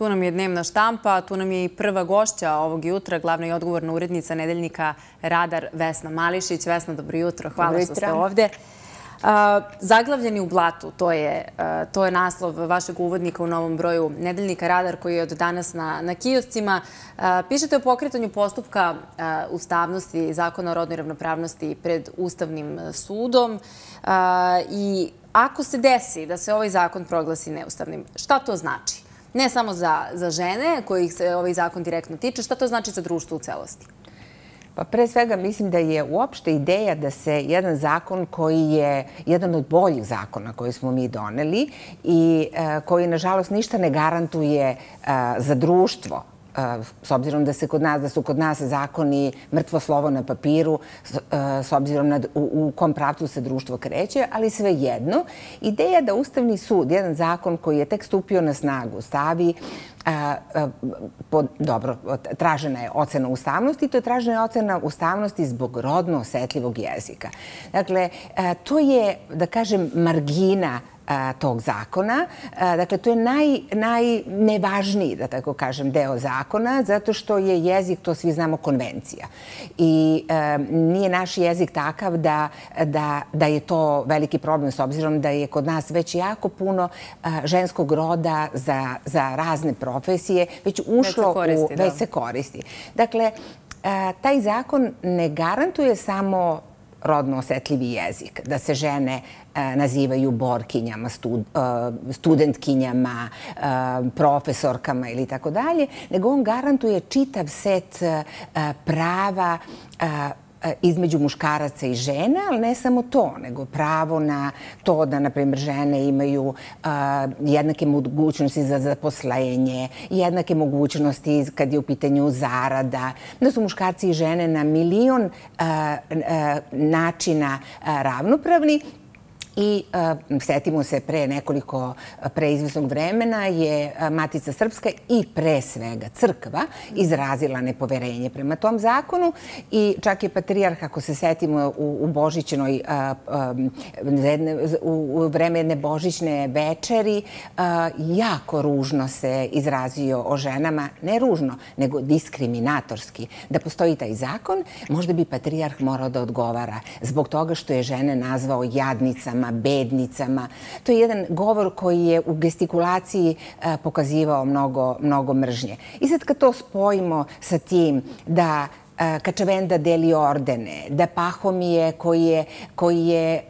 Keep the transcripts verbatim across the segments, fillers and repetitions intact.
Tu nam je dnevna štampa, tu nam je i prva gošća ovog jutra, glavna i odgovorna urednica nedeljnika Radar Vesna Mališić. Vesna, dobro jutro. Hvala što ste ovdje. Zaglavljeni u blatu, to je, to je naslov vašeg uvodnika u novom broju nedeljnika Radar koji je od danas na, na kioscima. Pišete o pokretanju postupka ustavnosti Zakona o rodnoj ravnopravnosti pred Ustavnim sudom i ako se desi da se ovaj zakon proglasi neustavnim, šta to znači? Ne samo za, za žene kojih se ovaj zakon direktno tiče, šta to znači za društvo u celosti? Pa pre svega mislim da je uopšte ideja da se jedan zakon koji je jedan od boljih zakona koji smo mi doneli i koji nažalost ništa ne garantuje za društvo, s obzirom da se kod nas, da su kod nas zakoni mrtvo slovo na papiru, s obzirom na u, u kom pravcu se društvo kreće, ali svejedno, ideja da Ustavni sud, jedan zakon koji je tek stupio na snagu, stavi A, a, po, dobro, tražena je ocena ustavnosti i to je tražena ocena ustavnosti zbog rodno osetljivog jezika. Dakle, a, to je, da kažem, margina a, tog zakona. A, dakle, to je naj, najnevažniji, da tako kažem, deo zakona, zato što je jezik, to svi znamo, konvencija. I a, nije naš jezik takav da, da, da je to veliki problem, s obzirom da je kod nas već jako puno a, ženskog roda za, za razne probleme profesije, već ušlo u... Već se koristi. Dakle, taj zakon ne garantuje samo rodno osetljivi jezik, da se žene nazivaju borkinjama, studentkinjama, profesorkama ili tako dalje, nego on garantuje čitav set prava između muškaraca i žena, ali ne samo to, nego pravo na to da, na primjer, žene imaju jednake mogućnosti za zaposlenje, jednake mogućnosti kad je u pitanju zarada, da su muškarci i žene na milion načina ravnopravni. I setimo se, pre nekoliko, pre izvesnog vremena je Matica Srpska i pre svega crkva izrazila nepoverenje prema tom zakonu i čak je patrijarh, ako se setimo u, u Božićnoj, u vreme jedne božićne večeri, jako ružno se izrazio o ženama, ne ružno, nego diskriminatorski. Da postoji taj zakon, možda bi patrijarh morao da odgovara zbog toga što je žene nazvao jadnicama, bednicama. To je jedan govor koji je u gestikulaciji pokazivao mnogo, mnogo mržnje. I sad kad to spojimo sa tim da Kačavenda deli ordene, da Pahomije koji je, koji je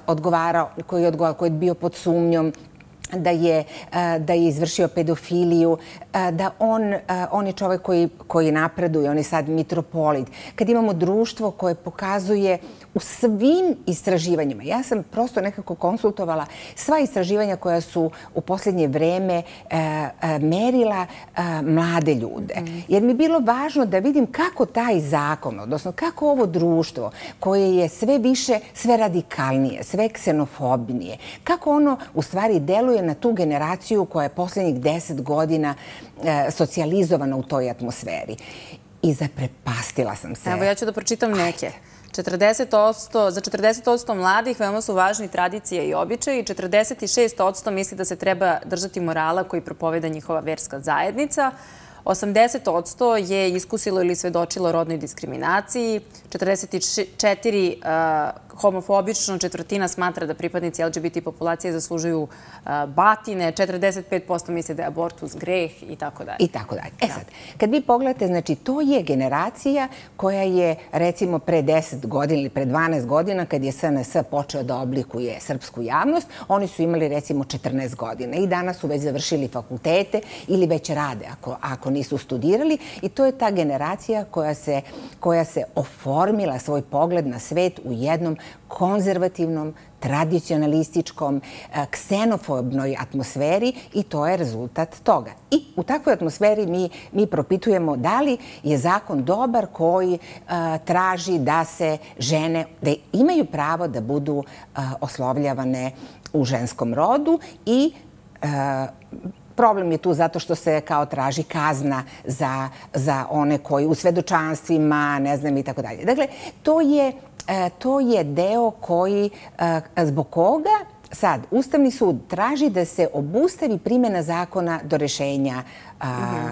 odgovarao, koji je, odgovarao, koji je bio pod sumnjom da je, da je izvršio pedofiliju, da on, on je čovjek koji, koji napreduje, on je sad mitropolit. Kad imamo društvo koje pokazuje u svim istraživanjima, ja sam prosto nekako konsultovala sva istraživanja koja su u posljednje vreme merila mlade ljude. Jer mi je bilo važno da vidim kako taj zakon, odnosno kako ovo društvo koje je sve više, sve radikalnije, sve ksenofobnije, kako ono u stvari deluje na tu generaciju koja je posljednjih deset godina socijalizovana u toj atmosferi. I zaprepastila sam se. Evo, ja ću da pročitam neke. četrdeset posto, za četrdeset posto mladih veoma su važni tradicije i običaji. četrdeset šest posto misli da se treba držati morala koji propoveda njihova verska zajednica. osamdeset posto je iskusilo ili svedočilo rodnoj diskriminaciji. četrdeset četiri posto homofobično, četvrtina smatra da pripadnici L G B T populacije zaslužuju batine, četrdeset pet posto misle da je abortus greh i tako dalje. I tako dalje. E sad, kad vi pogledate, znači, to je generacija koja je, recimo, pre deset godina ili pre dvanaest godina, kad je S N S počeo da oblikuje srpsku javnost, oni su imali, recimo, četrnaest godina i danas su već završili fakultete ili već rade, ako, ako nisu studirali. I to je ta generacija koja se, koja se oformila svoj pogled na svet u jednom konzervativnom, tradicionalističkom, ksenofobnoj atmosferi i to je rezultat toga. I u takvoj atmosferi mi, mi propitujemo da li je zakon dobar koji uh, traži da se žene, da imaju pravo da budu uh, oslovljavane u ženskom rodu i uh, problem je tu zato što se kao traži kazna za, za one koji u svedočanstvima, ne znam i tako dalje. Dakle, to je, to je deo koji, zbog koga sad, Ustavni sud traži da se obustavi primjena zakona do rešenja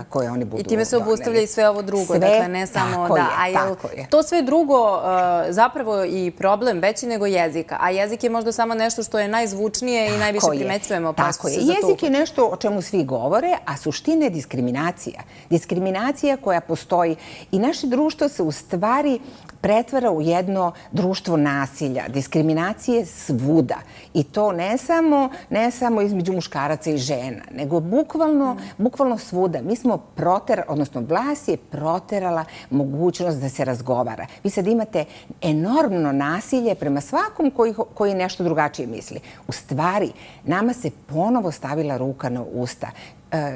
koje oni budu doneli. I time se obustavlja i sve ovo drugo. Dakle, ne samo da... Tako je. To sve drugo zapravo i problem veći nego jezika. A jezik je možda samo nešto što je najzvučnije i najviše primećujemo. Tako je. Jezik je nešto o čemu svi govore, a suština je diskriminacija. Diskriminacija koja postoji. I naše društvo se u stvari pretvara u jedno društvo nasilja, diskriminacije svuda. I to ne samo, ne samo između muškaraca i žena, nego bukvalno, bukvalno svuda. Mi smo proterali, odnosno vlast je proterala mogućnost da se razgovara. Vi sad imate enormno nasilje prema svakom koji, koji nešto drugačije misli. U stvari, nama se ponovo stavila ruka na usta.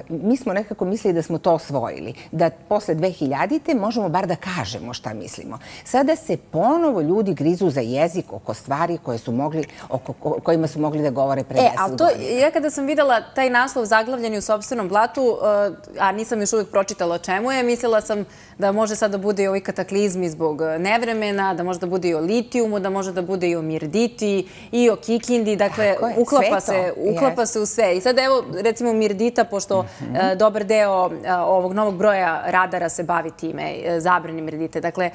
Mi smo nekako mislili da smo to osvojili, da posle dve hiljadite možemo bar da kažemo šta mislimo. Sada se ponovo ljudi grizu za jezik oko stvari koje su mogli, oko kojima su mogli da govore pre deset godina. Ja kada sam videla taj naslov zaglavljeni u sopstvenom blatu, a nisam još uvijek pročitala o čemu je, mislila sam da može sad da bude i ovi kataklizmi zbog nevremena, da može da bude i o litijumu, da može da bude i o mirditi, i o kikindi, dakle, uklapa se u sve. I sad evo, recimo, mirdita, što dobar deo ovog novog broja radara se bavi time, zabrani mirdite. Dakle,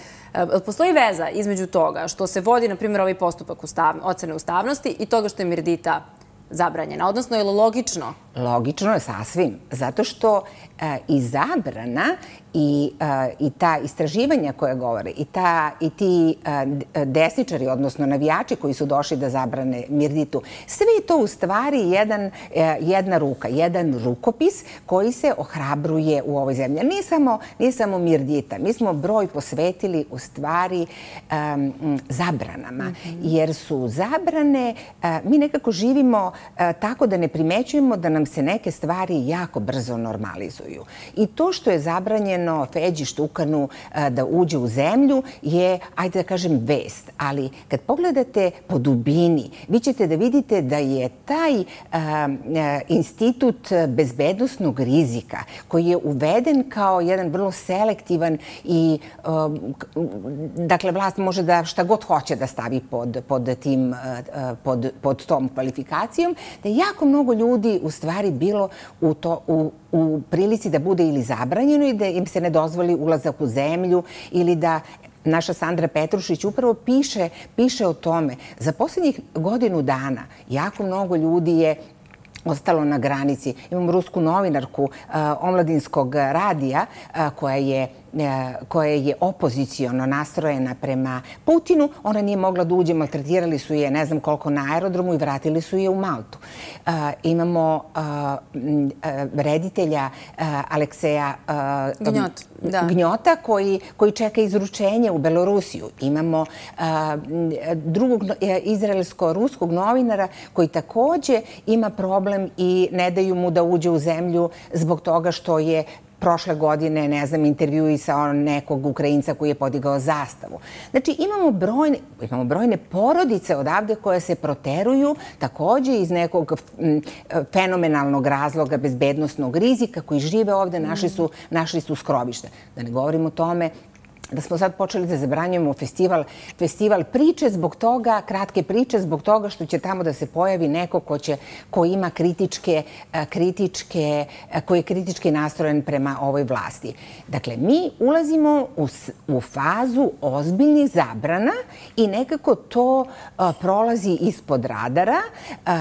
postoji veza između toga što se vodi, na primjer, ovaj postupak ocene ustavnosti i toga što je mirdita zabranjena. Odnosno, je li logično? Logično je sasvim. Zato što i zabrana i ta istraživanja koje govore i ti desničari, odnosno navijači koji su došli da zabrane mirditu, sve je to u stvari jedna ruka, jedan rukopis koji se ohrabruje u ovoj zemlji. Nije samo mirdita. Mi smo broj posvetili u stvari zabranama. Jer su zabrane, mi nekako živimo tako da ne primećujemo da nam se neke stvari jako brzo normalizuju. I to što je zabranjeno Feđi Štukanu da uđe u zemlju je, ajde da kažem, vest. Ali kad pogledate po dubini, vi ćete da vidite da je taj institut bezbednosnog rizika koji je uveden kao jedan vrlo selektivan i dakle vlast može da šta god hoće da stavi pod tom kvalifikacijom, da je jako mnogo ljudi u stvari bilo u prilici da bude ili zabranjeno i da im se ne dozvoli ulazak u zemlju ili da naša Sandra Petrušić upravo piše o tome. Za posljednjih godinu dana jako mnogo ljudi je ostalo na granici. Imamo rusku novinarku omladinskog radija koja je koja je opozicijono nastrojena prema Putinu. Ona nije mogla da uđe, maltretirali su je ne znam koliko na aerodromu i vratili su je u Maltu. Imamo reditelja Alekseja Gnjota koji čeka izručenje u Belorusiju. Imamo drugog izraelsko-ruskog novinara koji takođe ima problem i ne daju mu da uđe u zemlju zbog toga što je prošle godine, ne znam, intervjuisao nekog Ukrajinca koji je podigao zastavu. Znači, imamo brojne porodice odavde koje se proteruju takođe iz nekog fenomenalnog razloga bezbednosnog rizika koji žive ovde, našli su skrovište. Da ne govorim o tome da smo sad počeli da zabranjujemo festival priče zbog toga, kratke priče zbog toga što će tamo da se pojavi neko ko ima kritičke, kritičke, koji je kritički nastrojen prema ovoj vlasti. Dakle, mi ulazimo u fazu ozbiljnih zabrana i nekako to prolazi ispod radara.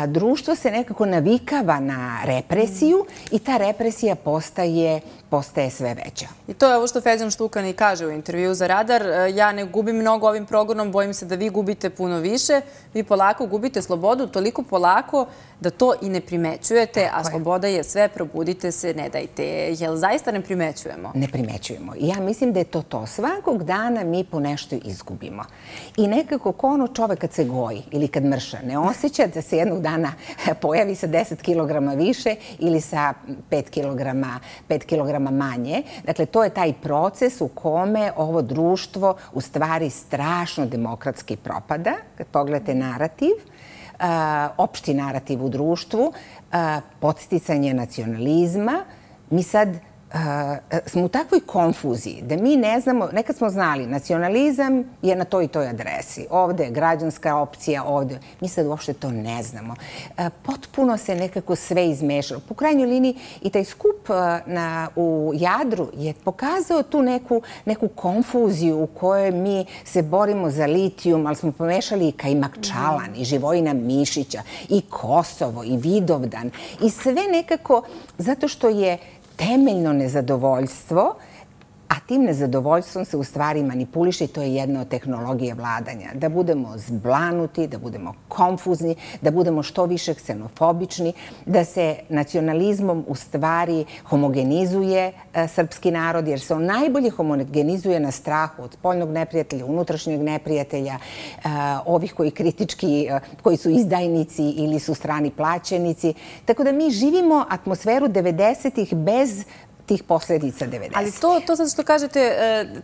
Društvo se nekako navikava na represiju i ta represija postaje postaje sve veća. I to je ovo što Feđan Štukan i kaže u intervju za Radar. Ja ne gubim mnogo ovim progonom, bojim se da vi gubite puno više. Vi polako gubite slobodu, toliko polako da to i ne primećujete, a sloboda je sve, probudite se, ne dajte. Jel zaista ne primećujemo? Ne primećujemo. Ja mislim da je to to. Svakog dana mi po nešto izgubimo. I nekako ko ono čovek kad se goji ili kad mrša, ne osjeća da se jednog dana pojavi sa deset kilograma više ili sa pet kilograma manje. Dakle, to je taj proces u kome ovo društvo u stvari strašno demokratski propada. Kad pogledate narativ, opšti narativ u društvu, podsticanje nacionalizma, mi sad smo u takvoj konfuziji da mi ne znamo, nekad smo znali, nacionalizam je na toj i toj adresi. Ovde je građanska opcija, ovde. Mi sad uopšte to ne znamo. Potpuno se nekako sve izmešalo. Po krajnjoj liniji i taj skup u Jadru je pokazao tu neku konfuziju u kojoj mi se borimo za litijum, ali smo pomešali i Kajmakčalan, i Živojina Mišića, i Kosovo, i Vidovdan. I sve nekako, zato što je temeljno nezadovoljstvo, a tim nezadovoljstvom se u stvari manipuliše i to je jedna od tehnologije vladanja. Da budemo zblanuti, da budemo konfuzni, da budemo što više ksenofobični, da se nacionalizmom u stvari homogenizuje srpski narod, jer se on najbolje homogenizuje na strahu od spoljnog neprijatelja, unutrašnjeg neprijatelja, ovih koji kritički, koji su izdajnici ili su strani plaćenici. Tako da mi živimo atmosferu devedesetih bez tih posledica devedesetih. Ali to, to sad što kažete,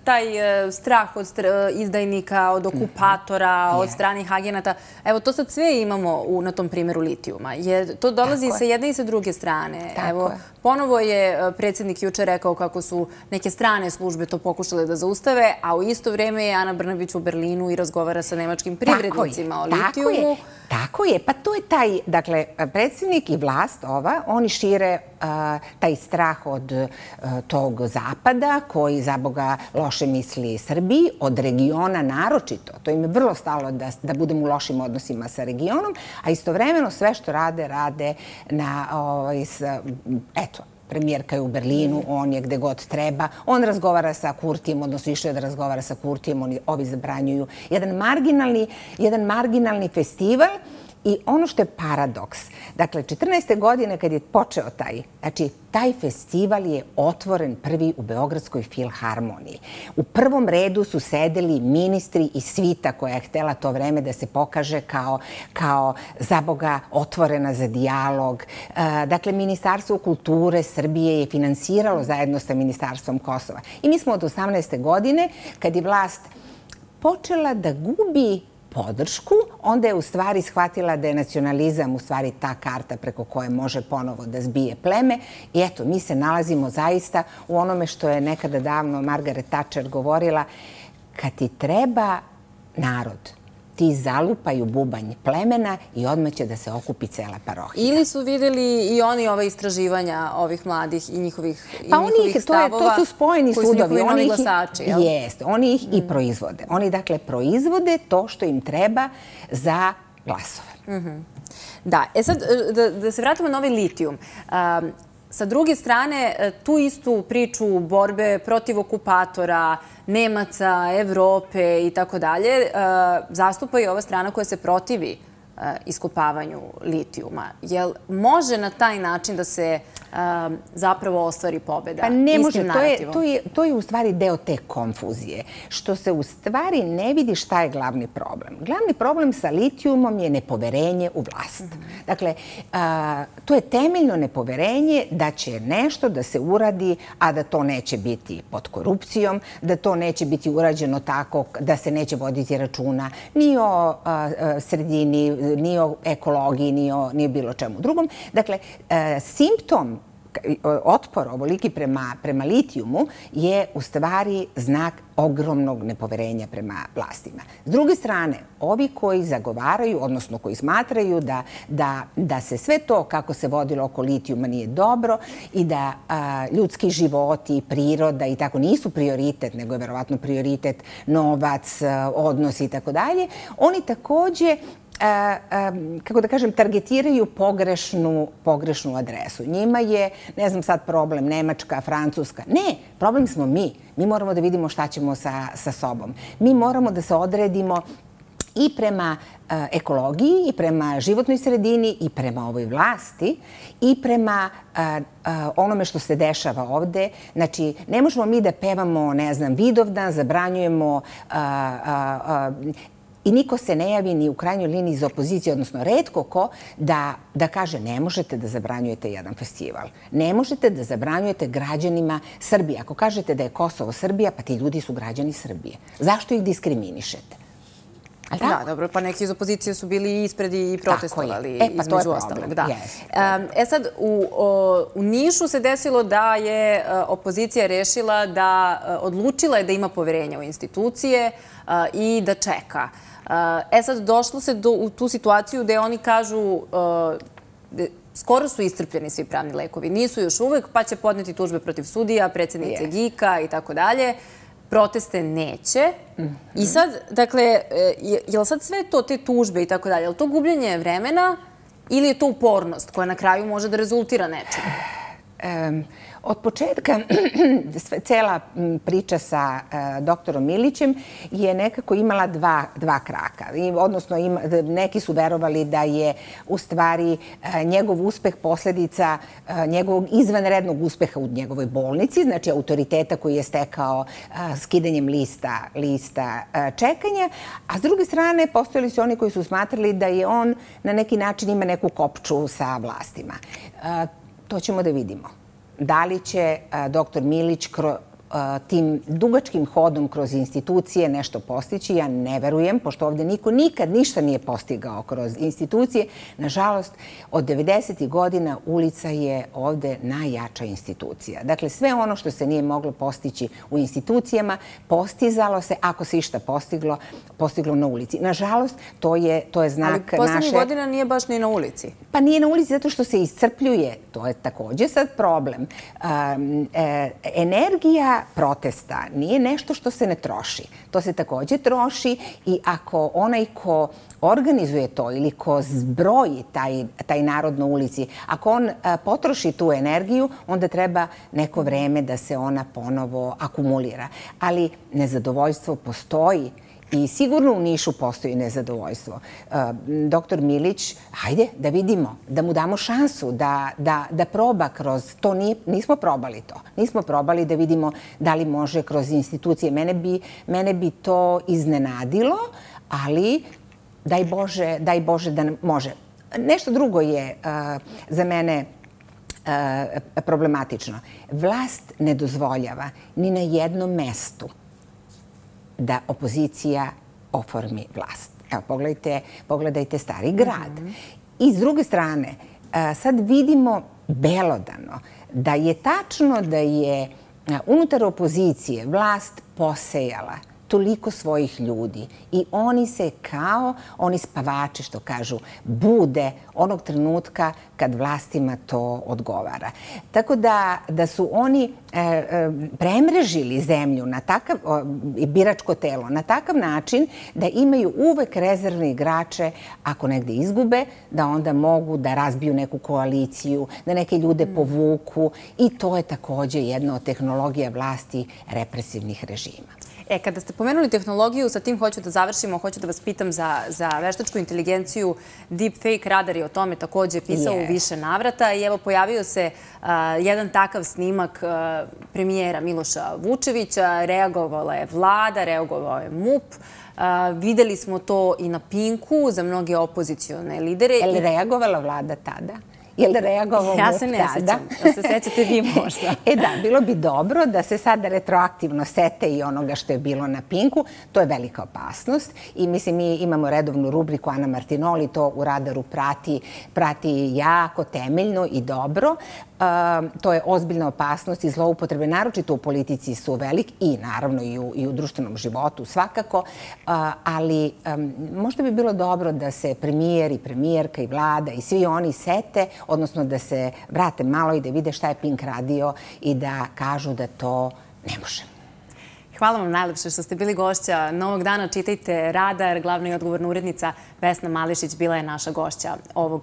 taj strah od izdajnika, od okupatora, od stranih agenata, evo to sad sve imamo na tom primjeru litijuma. To dolazi sa jedne i sa druge strane. Evo, ponovo je predsjednik juče rekao kako su neke strane službe to pokušale da zaustave, a u isto vrijeme je Ana Brnabić u Berlinu i razgovara sa nemačkim privrednicima o litijumu. Tako je, pa to je taj, dakle, predsjednik i vlast ova, oni šire taj strah od tog zapada koji za Boga loše misli Srbiji, od regiona naročito. To im je vrlo stalo da budemo u lošim odnosima sa regionom, a istovremeno sve što rade, rade na, eto, premijerka je u Berlinu, on je gde god treba. On razgovara sa Kurtijem, odnosno išao je da razgovara sa Kurtijem, ovi zabranjuju jedan marginalni, jedan marginalni festival. I ono što je paradoks, dakle, četrnaeste godine kad je počeo taj, znači, taj festival je otvoren prvi u Beogradskoj filharmoniji. U prvom redu su sedeli ministri i svita koja je htela to vreme da se pokaže kao, kao za Boga otvorena za dijalog. Dakle, Ministarstvo kulture Srbije je finansiralo zajedno sa Ministarstvom Kosova. I mi smo od osamnaeste godine, kad je vlast počela da gubi podršku, onda je u stvari shvatila da je nacionalizam u stvari ta karta preko koje može ponovo da zbije pleme. I eto, mi se nalazimo zaista u onome što je nekada davno Margaret Thatcher govorila, kad ti treba narod, ti zalupaju bubanj plemena i odmah će da se okupi cela parohija. Ili su vidjeli i oni ove istraživanja ovih mladih i njihovih stavova? To su spojeni sudovi. Koji su njihovi novi glasači, jel? Jeste, oni ih i proizvode. Oni, dakle, proizvode to što im treba za glasove. Da, e sad, da se vratimo na ovaj litijum. Sa druge strane, tu istu priču borbe protiv okupatora, Nemaca, Evrope i tako dalje, zastupa i ova strana koja se protivi iskopavanju litijuma. Jel može na taj način da se zapravo ostvari pobjeda? Pa ne može, to je u stvari deo te konfuzije, što se u stvari ne vidi šta je glavni problem. Glavni problem sa litijumom je nepoverenje u vlast. Dakle, to je temeljno nepoverenje da će nešto da se uradi, a da to neće biti pod korupcijom, da to neće biti urađeno tako da se neće voditi računa ni o sredini, ni o ekologiji, ni o bilo čemu drugom. Dakle, simptom otpor ovoliki prema litijumu je u stvari znak ogromnog nepoverenja prema vlastima. S druge strane, ovi koji zagovaraju, odnosno koji smatraju da se sve to kako se vodilo oko litijuma nije dobro i da ljudski životi, priroda i tako nisu prioritet, nego je verovatno prioritet novac, odnosi i tako dalje, oni takođe kako da kažem, targetiraju pogrešnu adresu. Njima je, ne znam sad, problem Nemačka, Francuska. Ne, problem smo mi. Mi moramo da vidimo šta ćemo sa sobom. Mi moramo da se odredimo i prema ekologiji, i prema životnoj sredini, i prema ovoj vlasti, i prema onome što se dešava ovde. Znači, ne možemo mi da pevamo, ne znam, Vidovdan, zabranjujemo i niko se ne javi ni u krajnjoj liniji iz opozicije, odnosno retko ko, da kaže ne možete da zabranjujete jedan festival. Ne možete da zabranjujete građanima Srbije. Ako kažete da je Kosovo Srbija, pa ti ljudi su građani Srbije. Zašto ih diskriminišete? Da, dobro, pa neki iz opozicije su bili ispred i protestovali između ostalog. E sad, u Nišu se desilo da je opozicija rešila da, odlučila je da ima poverenja u institucije i da čeka. E sad, došlo se u tu situaciju gde oni kažu skoro su iscrpljeni svi pravni lekovi. Nisu još uvek, pa će podneti tužbe protiv sudija, predsjednice G I K-a i tako dalje. Proteste neće. I sad, dakle, je li sad sve to, te tužbe i tako dalje, je li to gubljenje vremena ili je to upornost koja na kraju može da rezultira nečim? Od početka cela priča sa doktorom Milićem je nekako imala dva kraka. Odnosno, neki su verovali da je u stvari njegov uspeh posledica njegovog izvanrednog uspeha u njegovoj bolnici, znači autoriteta koji je stekao skidanjem lista čekanja, a s druge strane postojali su oni koji su smatrali da je on na neki način ima neku kopču sa vlastima. To ćemo da vidimo. Da li će doktor Milić tim dugačkim hodom kroz institucije nešto postići? Ja ne verujem, pošto ovdje niko nikad ništa nije postigao kroz institucije. Nažalost, od devedesetih godina ulica je ovdje najjača institucija. Dakle, sve ono što se nije moglo postići u institucijama, postizalo se, ako se išta postiglo, postiglo na ulici. Nažalost, to je znak naše... Ali poslednjih godina nije baš ni na ulici. Pa nije na ulici zato što se iscrpljuje. To je također sad problem. Energija protesta nije nešto što se ne troši. To se također troši i ako onaj ko organizuje to ili ko zbroji taj narod na ulici, ako on potroši tu energiju, onda treba neko vreme da se ona ponovo akumulira. Ali nezadovoljstvo postoji. I sigurno u Nišu postoji nezadovoljstvo. Doktor Milić, hajde da vidimo, da mu damo šansu da proba kroz to. Nismo probali to. Nismo probali da vidimo da li može kroz institucije. Mene bi to iznenadilo, ali daj Bože, daj Bože da može. Nešto drugo je za mene problematično. Vlast ne dozvoljava ni na jednom mestu da opozicija oformi vlast. Evo, pogledajte Stari grad. I s druge strane, sad vidimo belodano da je tačno da je unutar opozicije vlast posejala toliko svojih ljudi i oni se kao, oni spavači što kažu, bude onog trenutka kad vlastima to odgovara. Tako da su oni premrežili zemlju na takav, biračko telo, na takav način da imaju uvek rezervne igrače ako negde izgube, da onda mogu da razbiju neku koaliciju, da neke ljude povuku i to je također jedna od tehnologija vlasti represivnih režima. E, kada ste pomenuli tehnologiju, sa tim hoću da završimo, hoću da vas pitam za veštačku inteligenciju. Deepfake radar je o tome također pisao u više navrata i evo pojavio se jedan takav snimak premijera Miloša Vučevića, reagovala je vlada, reagovao je M U P. Videli smo to i na Pinku za mnoge opozicione lidere. Je li reagovala vlada tada? Je li reagovao M U P tada? Ja se ne sećam. Da se sećate vi možda. E da, bilo bi dobro da se sada retroaktivno sete i onoga što je bilo na Pinku. To je velika opasnost i mislim mi imamo redovnu rubriku Ana Martinoli, to u Radaru prati jako temeljno i dobro. To je ozbiljna opasnost i zloupotrebe, naročito u politici su velik i naravno i u društvenom životu svakako, ali možda bi bilo dobro da se premijer i premijerka i vlada i svi oni sete, odnosno da se vrate malo i da vide šta je Pink radio i da kažu da to ne može. Hvala vam najlepše što ste bili gošća Novog dana. Čitajte Radar. Glavna i odgovorna urednica Vesna Mališić bila je naša gošća ovog